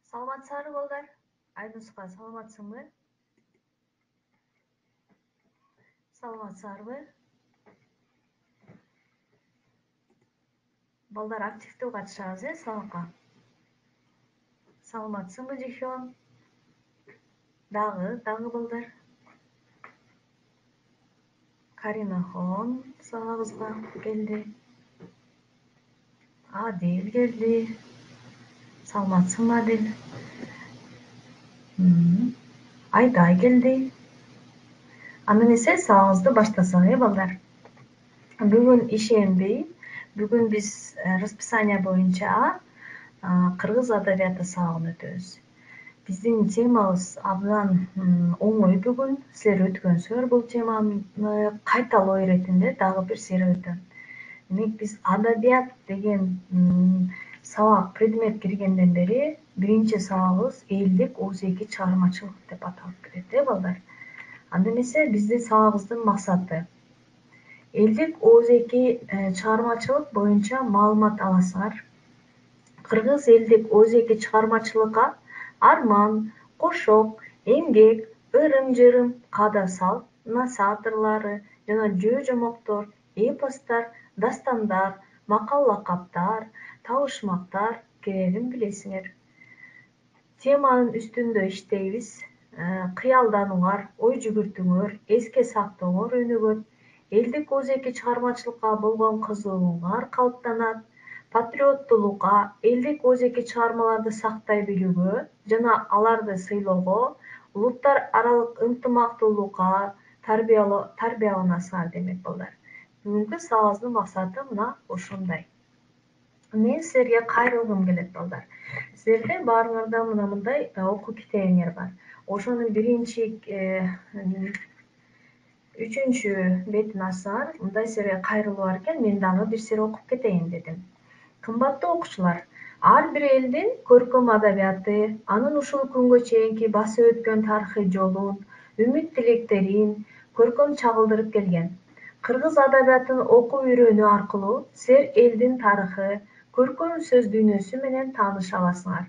Саламатсыздарбы балдар? Айнуска саламатсыңбы? Саламатсыздарбы? Балдар активдүү катышабыз, сабакка. Саламатсыңбы, Жихён? Дагы балдар. Каринахон сабагыбызга келди. Адил келди. Саламатсыңбы, Адил? Айдай келди. Анда эмесе сабагыбызды баштасак, балдар. Бүгүн ишенбей, бүгүн биз расписание боюнча кыргыз адабияты сабагын өтөбүз. Биздин темабыз абдан оңой бүгүн. Силер өткөнсүздөр бул теманы кайталоо иретинде дагы бир сыйра өтөм. Демек биз адабият деген сабак предмет киргенден бери биринчи сабагыбыз элдик оозеки чыгармачылык деп аталып келет, балдар. Анда эмесе биздин сабагыбыздын максаты элдик оозеки чыгармачылык боюнча маалымат аласыңар. Кыргыз элдик оозеки чыгармачылыкка арман, кошок, эмгек, ырым-жырым, каада-салт, насаатырлары жана жөө-жомоктор, эпостор, дастандар, макал-лакаптар, табышмактар кирерин билесиңер. Теманын үстүндө иштейбиз. Кыялданууңар, ой жүгүртүүңөр, эске сактооңор өнүгөт. Элдик оозеки чыгармачылыкка болгон кызыгууңар калыптанат. Патриоттуулукка, элдик оозеки чыгармаларды сактай билүүгө жана аларды сыйлоого, улуттар аралык ынтымактуулукка тарбияланасыңар демек, балдар. Бүгүнкү сабагыбыздын максаты мына ушундай. Мен силерге кайрылгым келет, балдар. Силерде баарыңарда мындай окуу китебиңер бар. Ошонун биринчи, үчүнчү бетин ачсаңар, мындай силерге кайрылуу бар экен. Мен дагы бир сире окуп кетейин дедим. Кымбаттуу окуучулар, ар бир элдин көркөм адабияты, анын ушул күнгө чейинки басып өткөн тарыхый жолун, үмүт тилектерин көркөм чагылдырып келген. Кыргыз адабиятын окуп үйрөнүү аркылуу силер элдин тарыхы, көркөм сөз дүйнөсү менен тааныша аласыңар.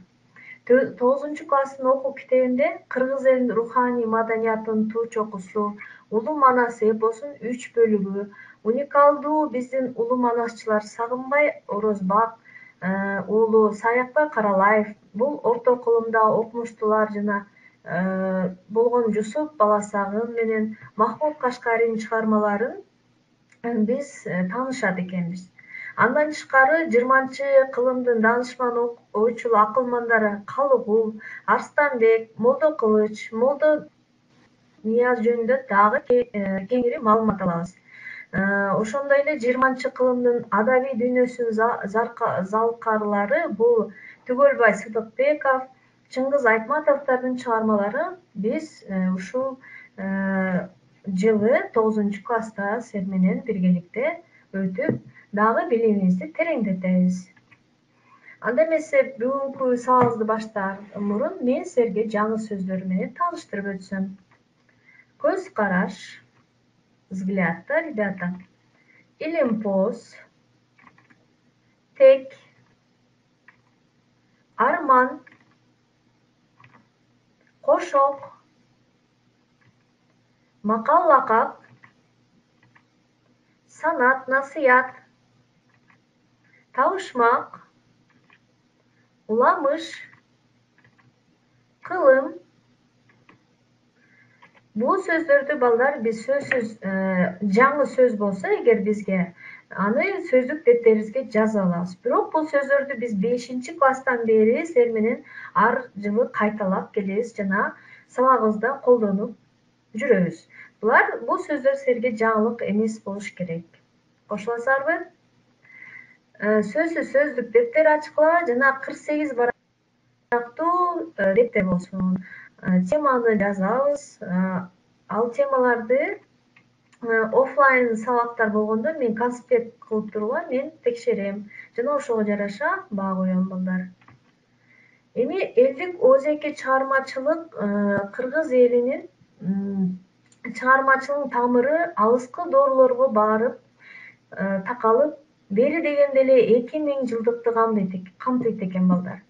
9 класстын окуу китебинде кыргыз элинин руханий маданиятынын туу чокусу, улуу манас эпосунун 3 бөлүгү, уникалдуу биздин улуу манасчылар Сагынбай Орозбак уулу Саякбай Каралаев, бул орто кылымда окумуштуулар жана болгон Жусуп Баласагын менен Махмуд Кашкаринин чыгармаларын биз таанышат экенбиз. Андан тышкары 20-кылымдын даанышман ойчул акылмандары Калыгул, Арстанбек, Молдо Кылыч, Молдо Нияз жөнүндө дагы кеңири маалымат алабыз. Ошондой эле 20-кылымдын адабий дүйнөсүнүн залкарлары бул Түгөлбай Сыдыкбеков, Чыңгыз Айтматовдордун чыгармаларын биз ушул жылы 9 класста силер менен биргеликте өтүп, дагы билимибизди тереңдетебиз. Анда эмесе бүгүнкү сабагыбызды баштаар мурун мен силерге жаңы сөздөр менен тааныштырып өтсөм. Көз караш, взгляд-то, ребята. Илимпоз, тек, арман, кошок, макал-лакап, санат, насыят, табышмак, уламыш, кылым. Бул сөздөрдү, балдар, биз сөзсүз жаңы сөз болсо эгер бизге, аны сөздүк деттерибизге жазып алабыз. Бирок бул сөздөрдү биз 5-класстан бери силер менен ар жылы кайталап келебиз жана сабагыбызда колдонуп жүрөбүз. Бул сөздөр силерге жаңылык эмес болуш керек. Кошуласыздарбы? Сөзсүз сөздүк дептер ачкыла жана 48 барактуу дептер болсун. Теманы жазабыз. Ал темаларды офлайн сабактар болгондо мен конспект кылып турууга мен текшерем жана ошого жараша баа коем, балдар. Эми элдик оозеки чыгармачылык кыргыз элинин чыгармачылыгынын тамыры алыскы доорлорго барып такалып, бери дегенде эле 2000 жылдыкты камтыйт экен, балдар.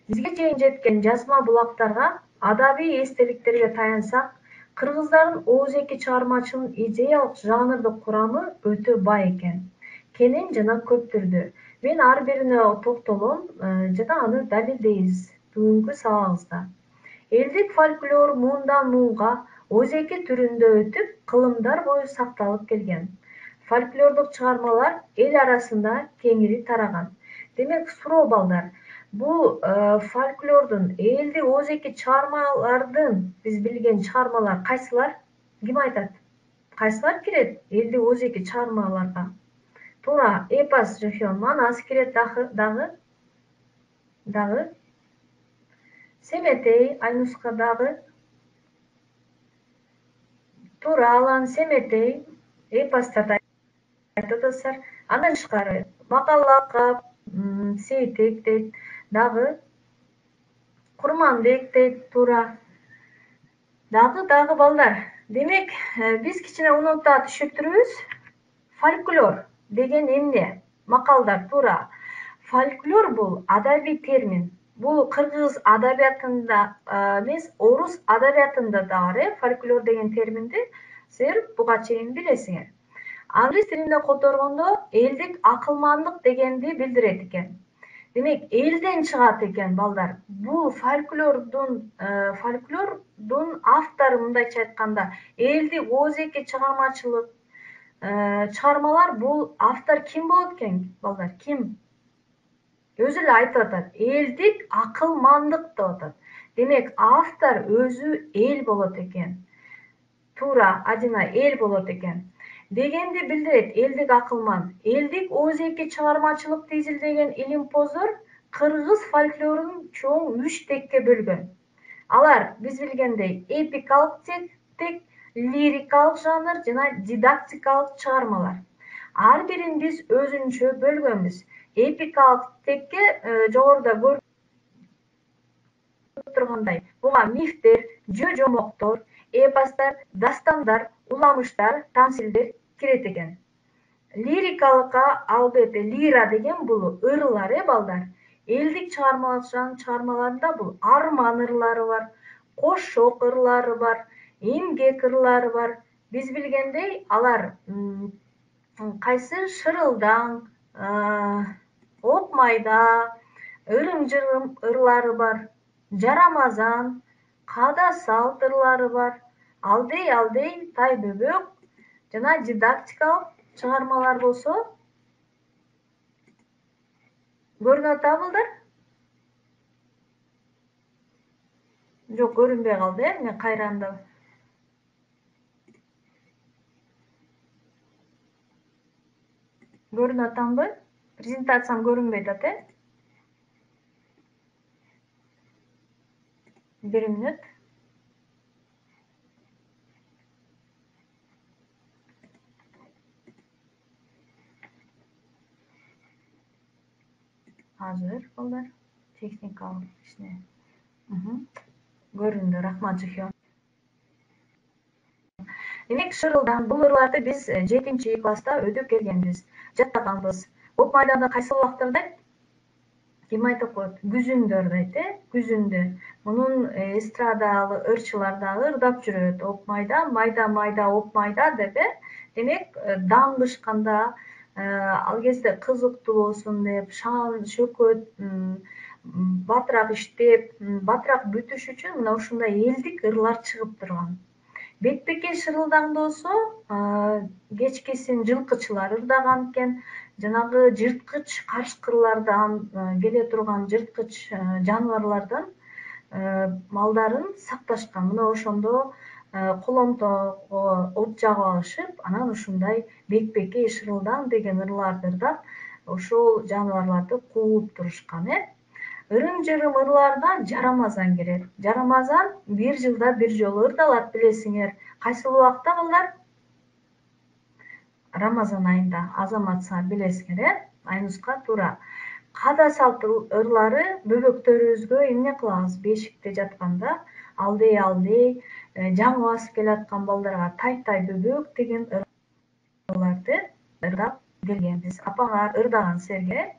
Бизге чейин жеткен жазма булактарга, адабий эстеликтерге таянсак, кыргыздардын оозеки чыгармачылыгынын идеялык жанрдык курамы өтө бай экен, кенен жана көп түрдүү. Мен ар бирине токтолом жана аны далилдейбиз бүгүнкү сабагыбызда. Элдик фольклор муундан муунга оозеки түрүндө өтүп, кылымдар бою сакталып келген. Фольклордук чыгармалар эл арасында кеңири тараган. Демек, суроо балдар, бул фольклордун, элдик оозеки чыгармалардын биз билген чыгармалар кайсылар? Ким айтат? Кайсылар кирет элдик оозеки чыгармаларга? Туура, эпос Жохен, манас кирет дагы. Семетей, Айнуска дагы. Туура, Алан, Семетей, эпосторду айтып атасыздар. Андан тышкары Макаллакап, Сейтек дейт, дагы Курманбек дейт, туура. Дагы балдар. Демек, биз кичине унутуп түшүндүрүбүз. Фольклор деген эмне? Макалдар, туура. Фольклор бул адабий термин. Бул кыргыз адабиятында эмес, орус адабиятында да бар, фольклор деген терминди силер буга чейин билесиңер. Англис тилинде которгондо элдик акылмандык дегенди билдирет экен. Демек, элден чыгат экен балдар. Бул фольклордун автору, мындайча айтканда, элдик оозеки чыгармачылык чыгармалар, бул автор ким болот экен, балдар? Ким? Өзү эле айтып атат, элдик акылмандык деп атат. Демек, автор өзү эл болот экен. Туура, Адина, эл болот экен. Дегенди билдирет элдик акылман. Элдик оозеки чыгармачылыкты изилдеген илимпоздор кыргыз фольклорун чоң 3 текке бөлгөн. Алар биз билгендей эпикалык тек, лирикалык жанр жана дидактикалык чыгармалар. Ар бирин биз өзүнчө бөлгөнбүз. Эпикалык текке жогоруда көрүп тургандай, буга мифтер, жөө-жомоктор, эпостор, дастандар, уламыштар, тамсилдер кирет экен. Лирикалыкка, албетте, лира деген бул ырлар, балдар. Элдик чыгармаларында бул арман ырлары бар, кошок ырлары бар, эмгек ырлары бар. Биз билгендей, алар кайсы шырылдаң, оп майда, ырым-жырым ырлары бар, жарамазан, када салт ырлары бар, алдей, тай-бөбөк жана дидактикалык чыгармалар болсо көрүнүп атабы, балдар? Жок, көрүнбөй калды, мен кайранда. Көрүнүп атамбы? Презентациям көрүнбөй атат, Бир мүнөт. Азыр, балдар, техникалык кичине. Көрүндү, рахмат, Жохен. Демек, шырылдаң, бул ырларды биз 7-чи класста өтүп келгенбиз, жаттаганбыз. Оп майданда кайсы убактарда ким айтып коет? Күзүндөр дейт, күзүндө. Мунун эстрадалы ырчылар дагы ырдап жүрөт. Оп майда, майда, оп майда деп, Демек, даңгышканда, ал кезде кызыктуу болсун деп, шаан шөкөт батыраак иштеп, батыраак бүтүш үчүн мына ушундай элдик ырлар чыгып турган. Бетпеке шырылдаңды болсо, кечкесин жылкычылар ырдаган экен. Жанагы жырткыч кашкырлардан, келе турган жырткыч жаныбарлардан малдарын сакташкан. Мына ошондо коломтого от жагып алышып, анан ушундай бетпеке шырылдаң деген ырларды ырдап, ошол жаныбарларды кууп турушкан, Ырым-жырым ырларына жарамазан кирет. Жарамазан 1 жылда 1 жолу ырдалат, билесиңер. Кайсыл убакта, балдар? Рамазан айында. Азаматса билесиңер, Айнуска, туура. Када салт ырлары бөбөктөрүбүзгө эмне кылабыз? Бешикте жатканда алдей, жаңы басып келаткан балдарга тай бөбөк деген ырларды ырдап келгенбиз. Апаңар ырдаган силерге.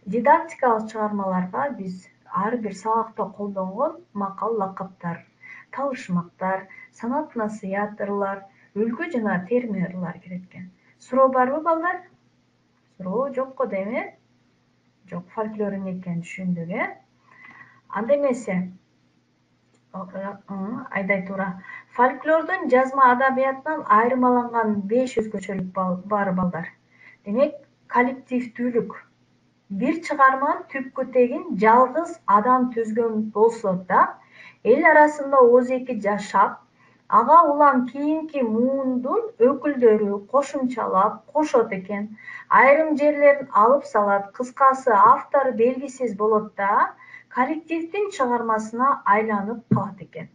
Дидактикалык чыгармаларга биз ар бир сабакта колдонгон макал лакаптар, талышмактар, санат насыят ырлар, үлгү жана терме ырлар кирет экен. Суроо барбы балдар? Суроо жок го дейм, Жок, фольклор эмне экенин түшүндүк, Анда эмесе, айдай туура. Фольклордун жазма адабиятынан айырмаланган 5 өзгөчөлүк бар балдар. Демек, коллективдүүлүк. Бир чыгарманын түпкү тегин жалгыз адам түзгөн болсо да, эл арасында ооз-эки жашап, ага улам кийинки муундун өкүлдөрү кошумчалап кошот экен. Айрым жерлерин алып салат, кыскасы автор белгисиз болот да, коллективдин чыгармасына айланып калат экен.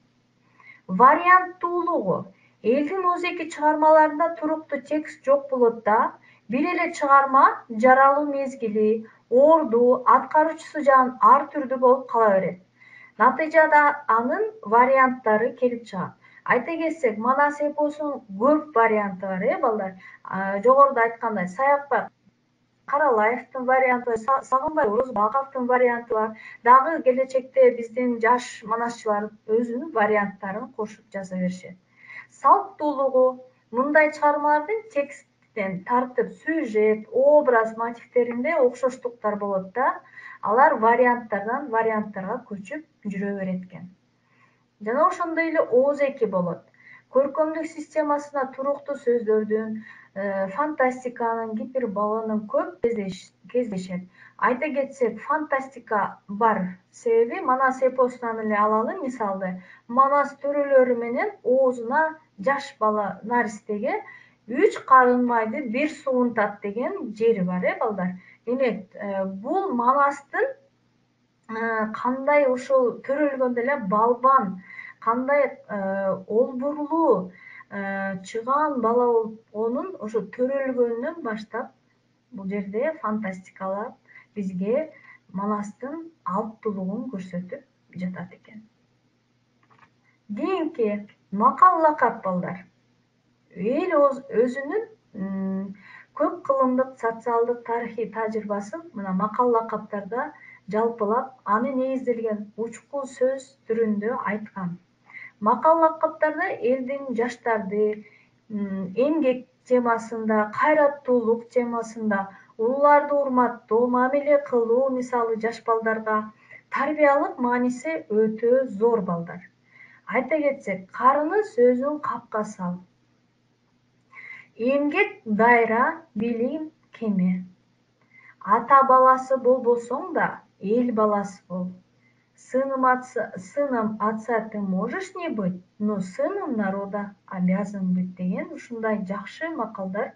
Варианттуулугу. Элдин ооз-эки чыгармаларында туруктуу текст жок болот да, бир эле чыгарма жаралуу мезгили, орду, аткаруучусу жагынан ар түрдүү болуп кала берет. Натыйжада анын варианттары келип чыгат. Айта кетсек, Манас эпосунун көп варианты бар, балдар. Жогоруда айткандай, Саякбай Каралаевдин варианты, Сагынбай Орозбаковдун варианты бар. Дагы келечекте биздин жаш манасчылар өзүнүн варианттарын кошуп жаза беришет. Салттуулугу. Мындай чыгармалардын тексттен тартып, сюжет, образ, мотивдеринде окшоштуктар болот да, алар варианттардан варианттарга көчүп жүрө берет экен. Жана ошондой эле ооз-эки болот. Көркөмдүк системасына туруктуу сөздөрдүн, фантастиканын, гиперболанын көп кездешет. Айта кетсек, фантастика бар. Себеби Манас эпосунан эле алалы мисалды. Манас төрөлөрү менен оозуна жаш бала наристеге 3 карын майды бир суунтат деген жери бар, балдар. Демек, бул Манастын кандай ошол төрөлгөндө эле балбан, кандай олбурлуу, чыгаан бала болуп, онун ошо төрөлгөнүнөн баштап бул жерде фантастикалап бизге Манастын алыптуулугун көрсөтүп жатат экен. Кийинки макал лакап балдар. Эл өзүнүн көп кылымдык социалдык тарыхый тажрыйбасын мына макал лакаптарда жалпылап, аны негизделген учкул сөз түрүндө айткан. Макал лакаптарда элдин жаштарды эмгек темасында, кайраттуулук темасында, улууларды урматтоо, мамиле кылуу мисалы жаш балдарга тарбиялык мааниси өтө зор балдар. Айта кетсек, карыны сөзүн капка сал. Эмгек дайра, билим кеме. Ата баласы болбосоң да, эл баласы бол. Сыном отца ты можешь не быть, но сыном народа обязан быть деген ушундай жакшы макалдар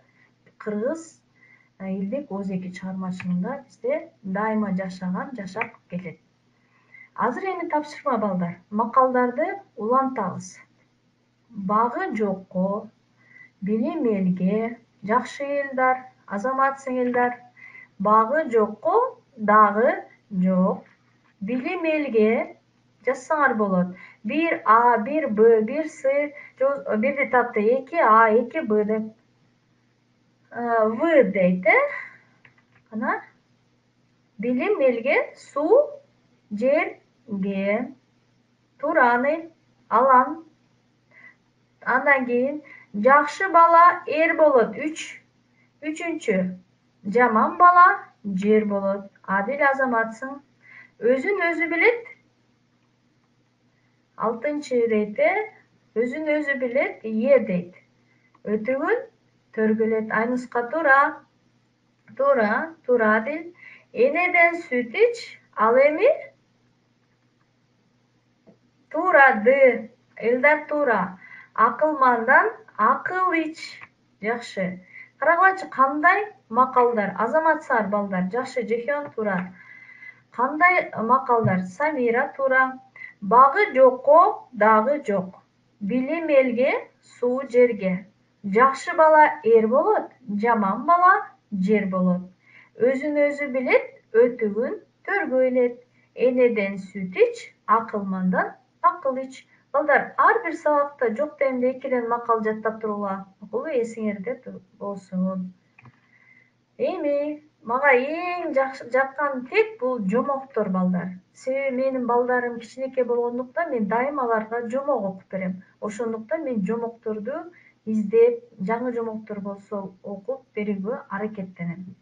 кыргыз элдик ооз-эки чыгармачылыгында бизде дайыма жашап келет. Азыр эми тапшырма балдар. Макалдарды улантабыз. Багы жокко, билим элге, жакшы элдар, азамат сиңилдар. Багы жокко, дагы жок. Билим элге жазсаңар болот. 1 А, 1 Б, 1 С, бирди тапты 2 А, 2 Б деп. В дейт, Кана. Билим элге, суу жерге, тураны алан. Андан кийин жакшы бала эр болот 3. Үчүнчү, жаман бала жер болот. Адил азаматсың. Өзүн өзү билет. 6 дейт, өзүн өзү билет, Е дейт. Өтөгүн төргүлөт. Айнуска туура. Туура Адил. Энеден сүт ич, ал эми туура Д. Элдар туура. Акылмандан акыл ич. Жакшы. Карагылачы, кандай макалдар, азаматсыңар балдар. Жакшы, Жехон туура. Кандай макалдар? Самира туура. Багы жокко, дагы жок. Билим элге, суу жерге. Жакшы бала эр болот, жаман бала жер болот. Өзүн өзү билет, өтүгүн төргө илет. Энеден сүт ич, акылмандан акыл ич. Балдар, ар бир сабакта жок дегенде 2ден макал жаттап тургула. Макулбу, эсиңерде болсун. Эми Мага эң жаккан тек бул жомоктор балдар. Себеби менин балдарым кичинекей болгондуктан мен дайыма аларга жомок окуп берем. Ошондуктан мен жомокторду издеп, жаңы жомоктор болсо окуп берүүгө аракеттенем.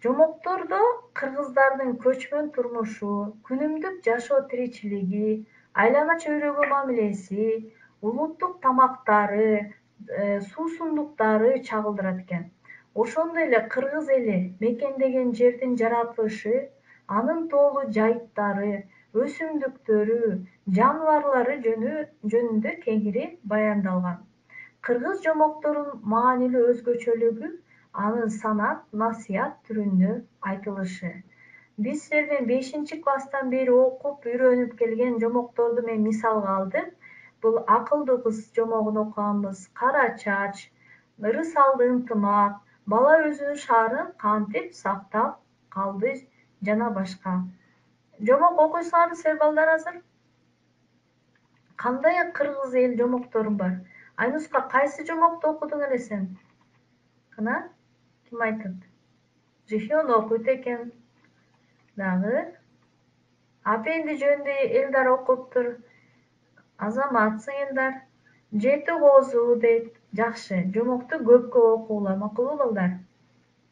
Жомоктордо кыргыздардын көчмөн турмушу, күнүмдүк жашоо тиричилиги, айлана чөйрөгө мамилеси, улуттук тамактары, суусундуктары чагылдырат экен. Ошондой эле кыргыз эли мекендеген жердин жаратылышы, анын тоолуу жайыттары, өсүмдүктөрү, жаныбарлары жөнүндө кеңири баяндалган. Кыргыз жомокторунун маанилүү өзгөчөлүгү анын санат, насыят түрүндө айтылышы. Биз силерден 5-класстан бери окуп, үйрөнүп келген жомокторду мен мисалга алдым. Бул акылдуу кыз жомогун окуганбыз, кара чач, ырысалды ынтымак, бала өзүнүн шаарын кантип сактап калды жана башка. Жомок окуйсуңарбы силер балдар азыр? Кандай кыргыз эл жомоктору бар? Айнуска, кайсы жомокту окудуң эле сен? Кана, ким айтат? Жихен окуйт экен. Дагы Апенди жөнүндө Элдар окуптур. Азаматсың Элдар. Жети козу дейт. Жакшы. Жомокту көпкө окугула, макулбу балдар?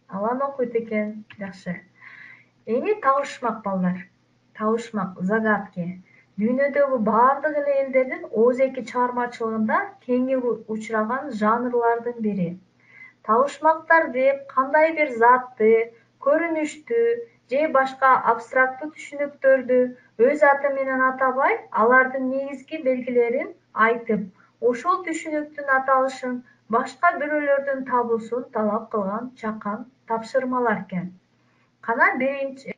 Алан окуйт экен. Жакшы. Эми табышмак балдар. Табышмак, загадки. Дүйнөдөгү бардык эле элдердин оозеки чыгармачылыгында кеңири учураган жанрлардын бири. Табышмактар деп кандай бир затты, көрүнүштү же башка абстракттуу түшүнүктөрдү өз аты менен атабай, алардын негизги белгилерин айтып, ошол түшүнүктүн аталышын башка бирөөлөрдүн табуусун талап кылган чакан тапшырмалар экен. Кана биринчи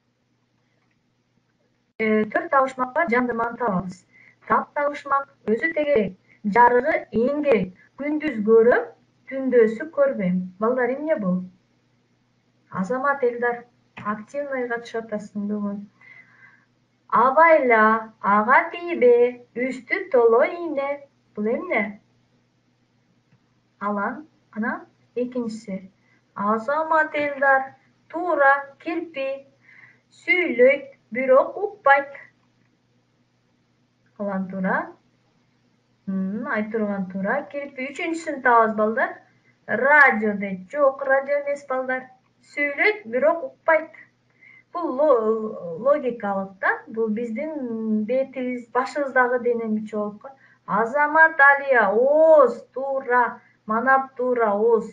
4 табышмак бар, жандырманы табабыз. Так табышмак өзү тегерек, жарыгы эң керек. Күндүз көрөм, түндөсү көрбөйм. Балдар, эмне бул? Азамат Элдар, активный катышып атасың бүгүн. Абайла, ага тийбе, үстү толо ийне. Бул эмне? Алан, кана экинчиси. Азамат Элдар, туура, кирпи. Сүйлөйт, бирок укпайт. Алан туура. Айтурган туура. Кирпи. Үчүнчүсүн табабыз балдар. Радио дейт. Жок, радио эмес балдар. Сүйлөйт, бирок укпайт. Бул логикалык да. Бул биздин бетибиз, башыбыздагы дене мүчө болуп калат. Азамат Алия, ооз, туура. Манап туура, ооз.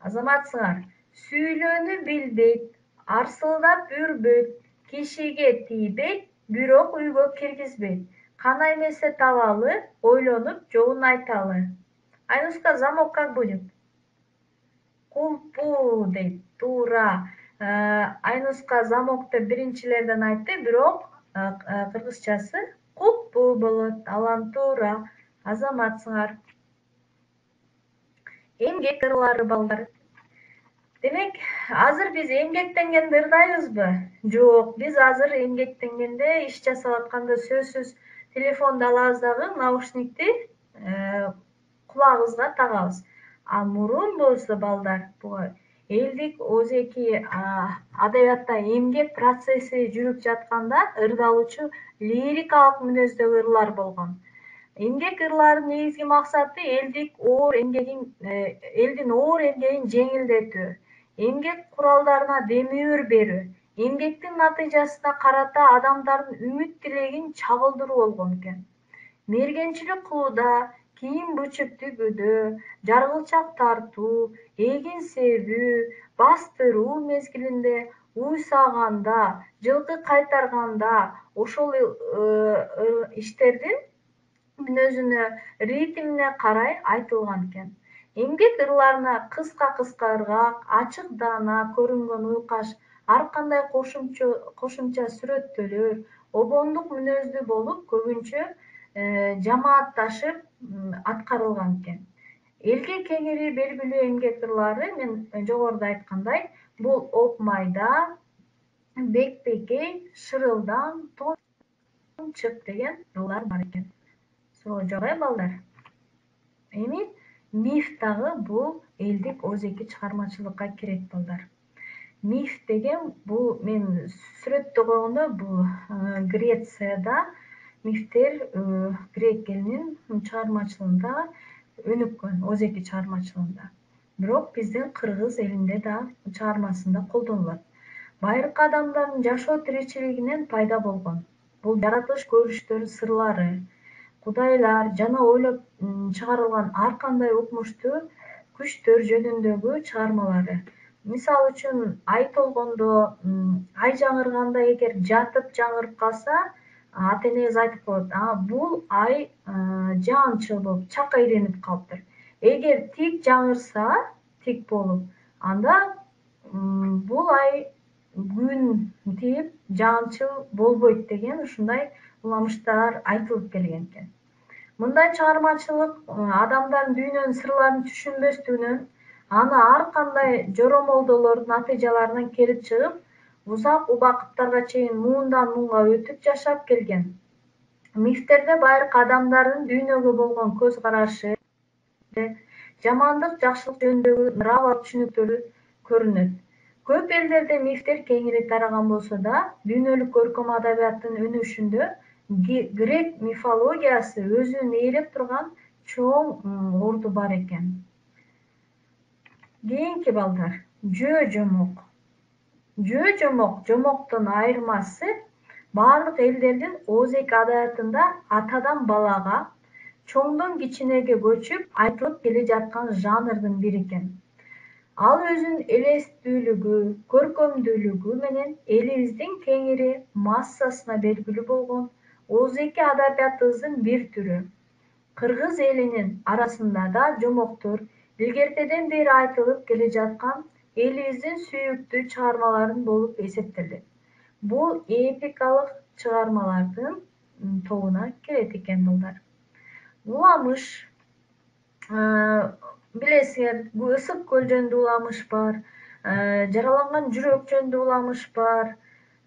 Азаматсыңар. Сүйлөөнү билбейт, арсылдап үрбөйт, кишиге тийбейт, бирок үйгө киргизбейт. Кана эмесе табалы, ойлонуп жообун айталы. Айнуска, замок как будет? Кулпу дейт. Туура. Айнуска замокты биринчилерден айтты, бирок кыргызчасы кулпу болот. Алан туура. Азаматсыңар. Эмгек ырлары балдар. Демек, азыр биз эмгектенгенди ырдайбызбы? Жок, биз азыр эмгектенгенде иш жасап атканда сөзсүз телефонду алабыз дагы наушникти кулагыбызга тагабыз. А мурун болсо балдар, элдик оозеки адабиятта эмгек процесси жүрүп жатканда ырдалуучу лирикалык мүнөздөгү ырлар болгон. Эмгек ырларынын негизги максаты элдин оор эмгегин жеңилдетүү, эмгек куралдарына демөөр берүү, эмгектин натыйжасына карата адамдардын үмүт тилегин чагылдыруу болгон экен. Мергенчилик кылууда, кийим бычып тигүүдө, жаргылчак тартуу, эгин себүү, бастыруу мезгилинде, уйсаганда, жылкы кайтарганда ошол иштердин мүнөзүнө, ритмине карай айтылган экен. Эмгек ырларына кыска ыргак, ачык даана көрүнгөн уйкаш, ар кандай кошумча сүрөттөлөр, обондук мүнөздүү болуп, көбүнчө жамаатташып аткарылган экен. Элге кеңири белгилүү эмгек ырлары, мен жогоруда айткандай, бул Оп майда, Бекбекей, Шырылдам, Тончык деген ырлар бар экен. Суроо жок балдар. Эми миф дагы бул элдик оозеки чыгармачылыкка кирет балдар. Миф деген бул мен сүрөттө койгондо бул Грецияда мифтер грек элинин чыгармачылыгында өнүккөн, Озеки чыгармачылыгында. Бирок биздин кыргыз элинде да чыгармасында колдонулат. Байыркы адамдардын жашоо тиричилигинен пайда болгон. Бул жаратылыш көрүнүштөрү сырлары, кудайлар жана ойлоп чыгарылган ар кандай укмуштуу күчтөр жөнүндөгү чыгармалары. Мисалы үчүн ай толгондо, ай жаңырганда эгер жатып жаңырып калса, ата-энебиз айтып коет, бул ай жаанчыл болуп чак айленип калыптыр. Эгер тик жаңырса, тик болуп, анда бул ай күн тиіп жаанчыл болбойт деген ушундай уламыштар айтылып келген экен. Мындай чыгармачылык адамдардын дүйнөнүн сырларын түшүнбөстүгүнөн, аны ар кандай жоромолдоолордун натыйжаларынан келип чыгып, узак убакыттарга чейин муундан муунга өтүп жашап келген. Мифтерде байыркы адамдардын дүйнөгө болгон көз карашы, жамандык, жакшылык жөнүндөгү ырабат түшүнүктөрү көрүнөт. Көп элдерде мифтер кеңири тараган болсо да, дүйнөлүк көркөм адабияттын өнүгүшүндө грек мифологиясы өзүн ээлеп турган чоң орду бар экен. Кийинки балдар, жөө-жомок. Жөө-жомок жомоктон айырмасы баардык элдердин Озеки адабиятында атадан балага, чоңдон кичинеге көчүп айтылып келе жаткан жанрдын бири экен. Ал өзүнүн элестүүлүгү, көркөмдүүлүгү менен элибиздин кеңири массасына белгилүү болгон Озеки адабиятыбыздын бир түрү. Кыргыз элинин арасында да жомоктор илгертеден бери айтылып келе жаткан элибиздин сүйүктүү чыгармаларын болуп эсептелет. Бул эпикалык чыгармалардын тобуна кирет экен балдар. Уламыш, билесиңер, Ысык көл жөнүндө уламыш бар, жараланган жүрөк жөнүндө уламыш бар,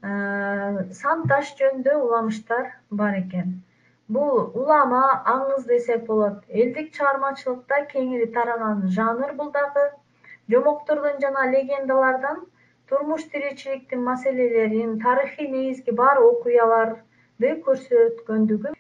Санташ жөнүндө уламыштар бар экен. Бул улама, аңыз десек болот. Элдик чыгармачылыкта кеңири тараган жанр бул дагы. Жомоктордон жана легендалардан турмуш тиричиликтин маселелерин, тарыхый негизги бар окуяларды көрсөткөндүгү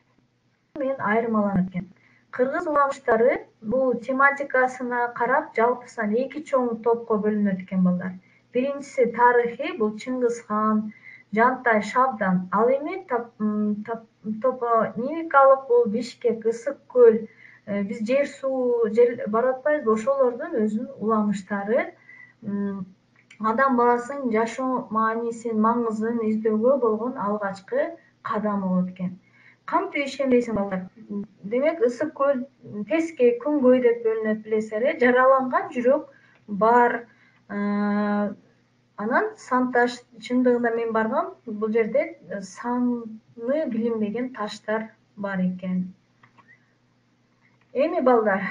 менен айырмаланат экен. Кыргыз уламыштары бул тематикасына карап жалпысынан эки чоң топко бөлүнөт экен балдар. Биринчиси тарыхый, бул Чыңгыз хан, Жантай, Шабдан. Ал эми топонимикалык, бул Бишкек, Ысык көл, биз жер суу барып атпайбызбы, ошолордун өзүнүн уламыштары адам баласынын жашоо маанисин, маңызын издөөгө болгон алгачкы кадам болот экен. Кантип ишенбейсиң балдар? Демек, Ысык көл тескей, күнгөй деп бөлүнөт, билесиңер, жараланган жүрөк бар. Анан Санташ, чындыгында мен баргам, бул жерде саны билинбеген таштар бар экен. Эми балдар,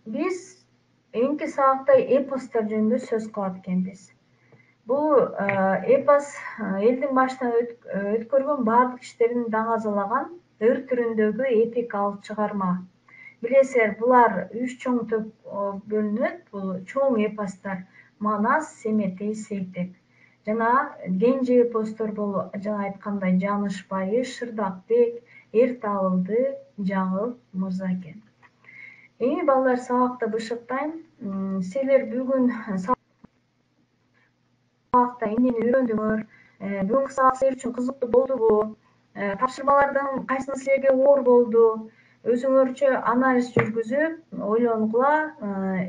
биз эмки сабакта эпостор жөнүндө сөз кылат экенбиз. Бул эпос элдин башынан өткөргөн баардык иштерин даңазалаган ыр түрүндөгү эпикалык чыгарма. Билесиңер, булар 3 чоң топко бөлүнөт. Бул чоң эпостор: Манас, Семетей, Сейтек. Жана кенже эпостор болуп, жана айткандай, Жанышбайы, Шырдакбек, Эртабылды, Жаңыл мырза экен. Эми балдар, сабакты бышыктайм. Силер бүгүн сабакта эмнени үйрөндүңөр? Бүгүнкү сабак силер үчүн кызыктуу болдубу? Тапшырмалардын кайсысы силерге оор болду? Өзүңөрчө анализ жүргүзүп, ойлонгула.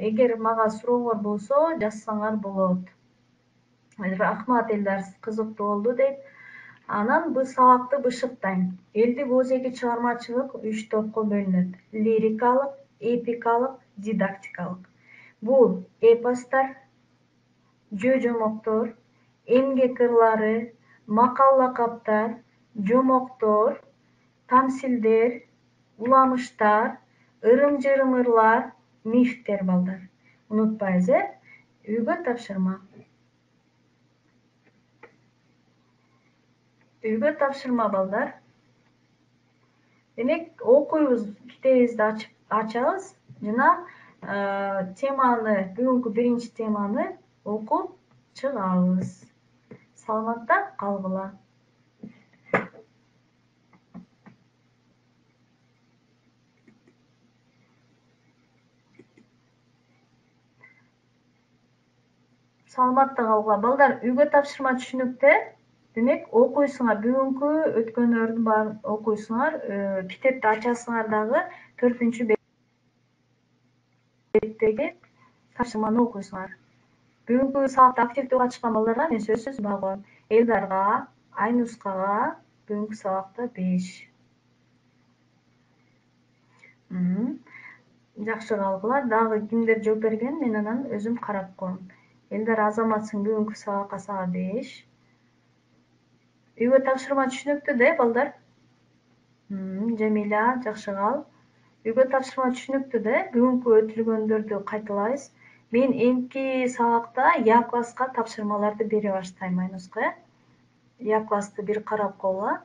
Эгер мага сурооңор болсо, жазсаңар болот. Рахмат элдар, кызыктуу болду дейт. Анан бул сабакты бышыктайм. Элдик Озеки чыгармачылык 3 топко бөлүнөт: лирикалык, эпикалык, дидактикалык. Бул эпостор, жөө-жомоктор, эмгек ырлары, макал-лакаптар, жомоктор, тамсилдер, уламыштар, ырым-жырым ырлар, мифтер балдар. Унутпайбыз, үйгө тапшырма. Үйгө тапшырма балдар. Демек, окуйбуз, китебибизди ачабыз жана теманы, бүгүнкү биринчи теманы окуп чыгабыз. Саламатта калгыла. Саламатта калгыла. Балдар, үйгө тапшырма түшүнүктө. Демек, окуйсуңар. Бүгүнкү өткөндөрдүн баарын окуйсуңар. Китепти ачасыңар дагы 4-беттеги тапшырманы окуйсуңар. Бүгүнкү сабакта активдүү катышкан балдарга мен сөзсүз баа коем. Элдарга, Айнускага бүгүнкү сабакта 5. Жакшы калгыла. Дагы кимдер жооп берген, мен анан өзүм карап коем. Элдар, Азаматсың, бүгүнкү сабакка сага 5. Үйгө тапшырма түшүнүктүү да, балдар? Жамиля, жакшы кал. Үйгө тапшырма түшүнүктүү да, бүгүнкү өтүлгөндөрдү кайталайбыз. Мен эмки сабакта Я класска тапшырмаларды бере баштайм, Айнуска. Я классты бир карап койгула.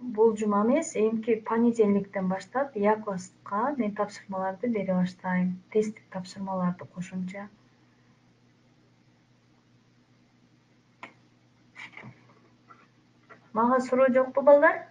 Бул жума эмес, эмки понедельниктен баштап Я класска мен тапшырмаларды бере баштайм. Тесттик тапшырмаларды кошумча. Мага суроо жокпу, балдар?